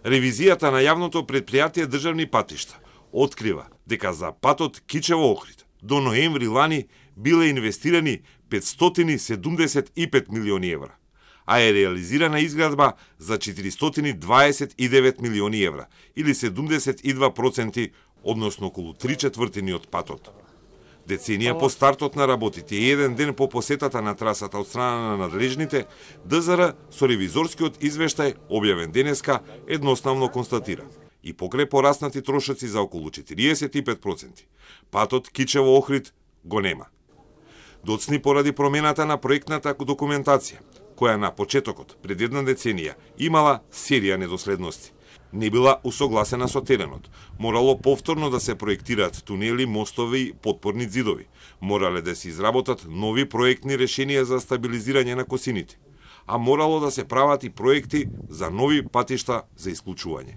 Ревизијата на јавното предпријатие државни патишта открива дека за патот Кичево-Охрид до ноември лани биле инвестирани 575 милиони евра, а е реализирана изградба за 429 милиони евра, или 72%, односно околу 3/4 од патот. Деценија по стартот на работите и еден ден по посетата на трасата од страна на надлежните, ДЗР со ревизорскиот извештај, објавен денеска, едноставно констатира: и покрај пораснати трошоци за околу 45%, патот Кичево-Охрид го нема. Доцни поради промената на проектната документација, која на почетокот, пред една деценија, имала серија недоследности. Не била усогласена со теренот. Морало повторно да се проектираат тунели, мостови и потпорни ѕидови. Морале да се изработат нови проектни решенија за стабилизирање на косините. А морало да се прават и проекти за нови патишта за исклучување.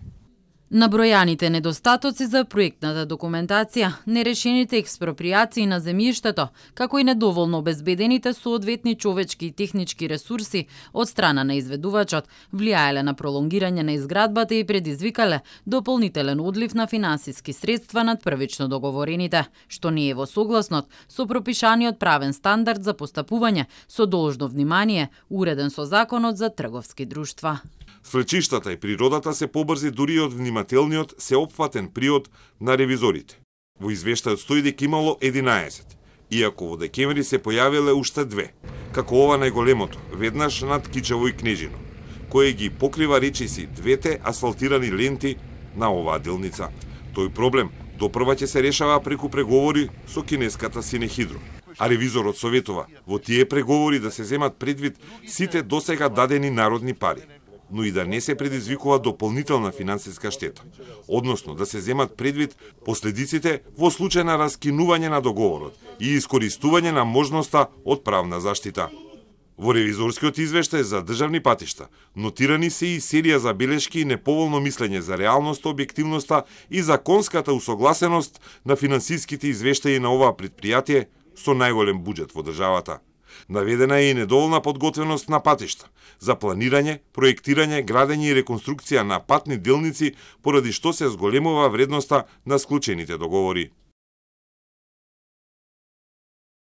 Набројаните недостатоци за проектната документација, нерешените експроприации на земјиштето, како и недоволно обезбедените соодветни човечки и технички ресурси од страна на изведувачот, влијаеле на пролонгирање на изградбата и предизвикале дополнителен одлив на финансиски средства над првично договорените, што не е во согласност со пропишаниот правен стандард за постапување со должно внимание, уреден со Законот за трговски друштва. Свлечиштата и природата се побрзи дури од внимателниот сеопфатен приод на ревизорите. Во извештајот стои дека имало 11, иако во декември се појавиле уште 2, како ова најголемото, веднаш над Кичево и Кнежино, кој ги покрива речиси двете асфалтирани ленти на оваа делница. Тој проблем допрва ќе се решава преку преговори со кинеската Синехидро. А ревизорот советува во тие преговори да се земат предвид сите досега дадени народни пари, но и да не се предизвикува дополнителна финансиска штета, односно да се земат предвид последиците во случај на раскинување на договорот и искористување на можноста од правна заштита. Во ревизорскиот извештај за државни патишта нотирани се и серија забелешки и неповолно мислење за реалноста, објективноста и законската усогласеност на финансиските извештаи на оваа предпријатие со најголем буџет во државата. Наведена е и недоволна подготвеност на патишта за планирање, проектирање, градење и реконструкција на патни делници, поради што се зголемува вредноста на склучените договори.